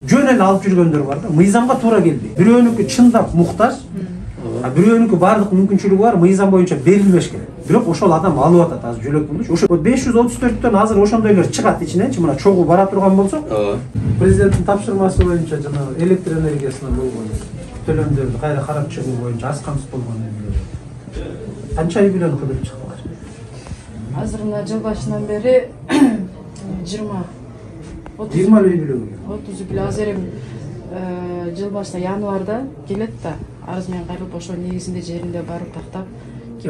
жөн эле алып жүргөндөр бар да, мыйзамга туура келбейт. Бирөөнүкү чындап муктаж, бирөөнүкү бардык мүмкүнчүлүгү бар, мыйзам боюнча берилбеш керек. Бирок ошол адам алып атат азыр жөлөк болчу. Ошо 534төн азыр ошондойлор чыгат ичиненчи, мына чогуу бара турган болсок, президенттин тапшырмасы боюнча жана электр энергиясына болгон төлөмдөрдү кайра карап чыгуу боюнча аз камсыз болгон канча үй бүлөнү кыдырып чыктылар? Азыр мына жыл башынан бери 20 үй бүлө. 30 үй бүлө. Азыр жыл башында январда келет да, арыз менен кайрылып ошо негизинде жеринде барып тактап.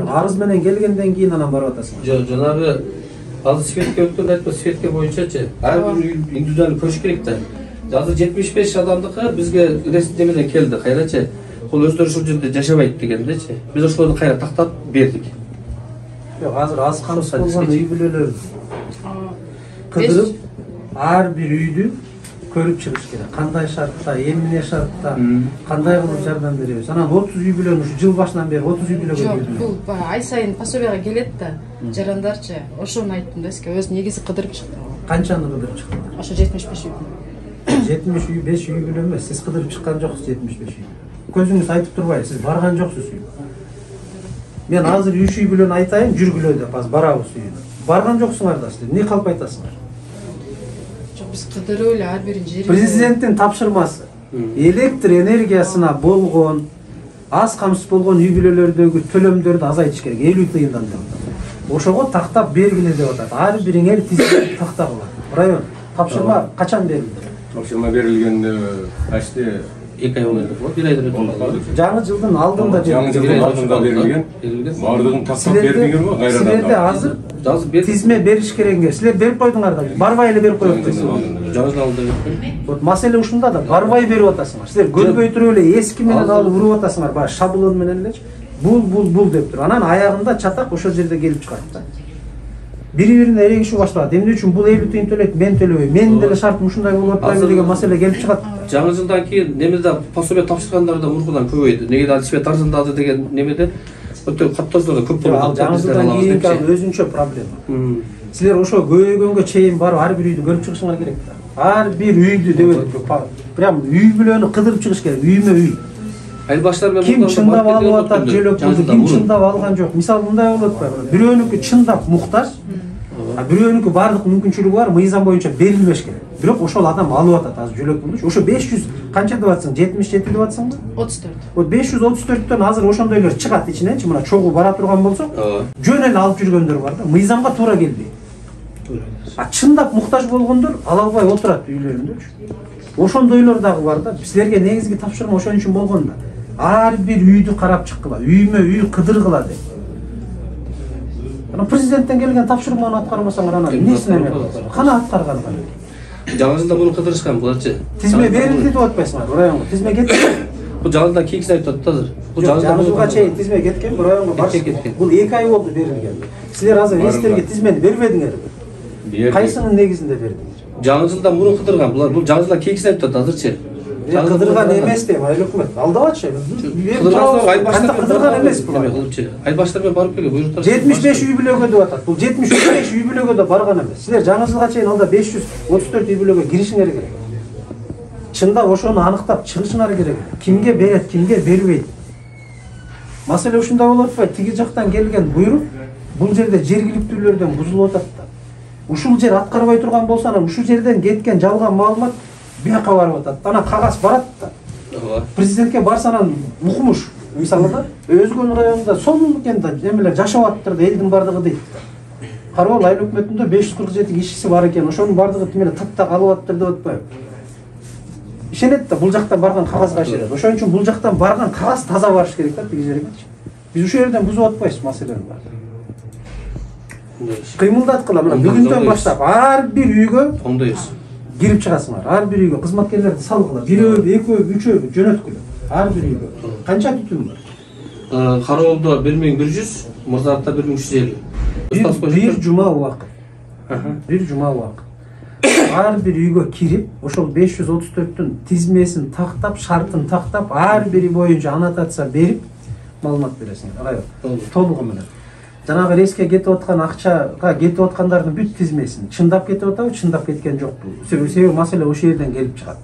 Арыз менен келгенден кийин анан барып атасың. Жок, жанагы азыр светке өткөндө айтпа, светке боюнчачы ар бир индивидуалдуу көрүш керек да. Азыр 75 адамдыкы бизге ресми менен келди, кайрачы. Ол өздөрү ушул жерде жашабайт дегендечи. Биз ошолорду кайра тактап бердик. Жок, азыр аз камсыз болгон үй бүлөлөр кыдырып ар бир үйдү көрүп чыгыш керек. Кандай шартта, эмне шартта, кандай кылып жардам беребиз. Анан 30 үй бүлөнү ушу жыл башынан бери 30 үй бүлөгө берди. Жок, бул ай сайын пособияга келет да, жарандарчы. Ошону айттым да сизге, өз негизи кыдырып чыкты. Канчаны кыдырып чыктыңар? Ошо 75 үй. 75 үй бүлө эмес, сиз кыдырып чыккан жоксуз 75 үй. Көзүңүз айтып турбайбы, сиз барган жоксуз үй. Мен азыр 3 үй бүлөнү айтайын, жүргүлө деп азыр барабыз үйүнө. Барган жоксуңар да сиз, эмне калп айтасыңар? Биз кыдырып эле ар бирин жерин. Президенттин тапшырмасы электр энергиясына болгон аз камсыз болгон үй бүлөлөрдөгү төлөмдөрдү азайтыш керек, 50 тыйындан деп. Ошого тактап бергиле деп атат. Ар бириңер тизме тактагыла. Район тапшырма качан берилди? Тапшырма берилгенде почти 2 ай болду. 1 айдан өтүп. Жаңы жылдын алдында жаңы жылдын алдында берилген. Бардыгын тактап бердиңер го кайрадан? Силерде азыр тизме бериш керекиңер. Силер берип койдуңар да, барбай эле берип коюп атасыңар. Жаңы жылдын алдында берип. Вот маселе ушунда да, барбай берип атасыңар. Силер көрбөй туруп эле эски менен алып уруп атасыңар, баягы шаблон менен элечи. Бул деп туруп. Анан аягында чатак ошол жерде келип чыгат да. Бири-бирине эрегишүү башталат. Эмне үчүн бул 50 тыйын төлөйт, мен төлөбөйм. Менин деле шартым ушундай болуп атпайбы деген маселе келип чыгат. Жаңы жылдан кийин немеде пособия тапшыргандар да мургудан көбөйдү. Неге свет арзандады деген немеде өтө каттоолордо көп болуп атат. Жаңы жылдан кийинки өзүнчө проблема. Силер ошо көбөйгөнгө чейин барып ар бир үйдү көрүп чыгышыңар керек да. Ар бир үйдү деп прям үй бүлөнү кыдырып чыгыш керек, үймө үй. Айылбаштар менен ким чындап алып атат жөлөк пулду, ким чындап алган жок. Мисалы мындай болуп атпайбы? Бирөөнүкү чындап муктаж, бирөөнүкү бардык мүмкүнчүлүгү бар, мыйзам боюнча берилбеш керек. Бирок ошол адам алып атат азыр жөлөк пулду. Ошо 500 канча деп атсың? 77 деп атсыңбы? 34. Вот 534төн азыр ошондойлор чыгат ичиненчи, мына чогуу бара турган болсок, жөн эле алып жүргөндөр бар да, мыйзамга туура келбейт. Чындап муктаж болгондор ала албай отурат үйлөрүндө. Ошондойлор дагы бар да. Силерге негизги тапшырма ошон үчүн болгон да. Ар бир үйдү карап чыккыла, үймө үй кыдыргыла деп. Анан президенттен келген тапшырманы аткарбасаңар анан эмнесин эме кыласың? Кана аткарган кана? Жаңы жылда муну кыдырышкан буларчы. Тизме берилди деп атпайсыңар, районго. Тизме кетти. Бул жаңы жылдан кийинкисин айтып атат азыр. Бул жаңы жылга чейин тизме кеткен, районго барып кеткен. Бул 2 ай болду берилген. Силер азыр эстерге тизмени бербедиңерби? Кайсынын негизинде бердиңер? Жаңы жылда муну кыдырган булар. Бул жаңы жылдан кийинкисин айтып атат азырчы. Кыдырган эмес деп айыл өкмөт. Алдабачы. Кыдырган эмес бул. Айылбаштар менен барып келген буйруктар. 75 үй бүлөгө деп атат. Бул 75 үй бүлөгө да барган эмес. Силер жаңы жылга чейин алда 534 үй бүлөгө киришиңер керек. Чындап ошону аныктап чыгышыңар керек. Кимге берет, кимге бербейт. Маселе ушундай болуп атпайбы? Тиги жактан келген буйрук бул жерде жергиликтүүлөрдөн бузулуп атат да. Ушул жер аткарбай турган болсо, анан ушул жерден кеткен жалган маалымат бияка барып атат. Анан кагаз барат да. Президентке барса анан укмуш. Мисалы да, Өзгөн районунда сонун экен да, эмелер жашап атыптыр да, элдин бардыгы дейт. Карабал айыл өкмөтүндө 547 кишиси бар экен. Ошонун бардыгы тимеле таттак алып атыптыр деп атпайбы? Ишенет да, бул жактан барган кагазга ишенет. Ошон үчүн бул жактан барган кагаз таза барыш керек да, тиги жерге. Биз ушул жерден бузуп атпайбыз маселени бар. Кыймылдаткыла, мына бүгүндөн баштап ар бир үйгө оңдойбуз. Кирип чыгасыңар. Ар бир үйгө кызматкерлерди салгыла. Бирөө, экөө, үчөө жөнөткүлө. Ар бир үйгө. Канча түтүн бар? Кароолдо 1100, Мурзаатта 1350. Бир жума убакыт. Бир жума убакыт. Ар бир үйгө кирип, ошол 534түн тизмесин тактап, шартын тактап, ар бири боюнча аннотация берип, маалымат бересиңер. Район. Толугу менен. Жанагы рейске кетип аткан акчага кетип аткандардын бүт тизмесин чындап кетип атабы, чындап кеткен жокпу? Себеби маселе ошол жерден келип чыгат.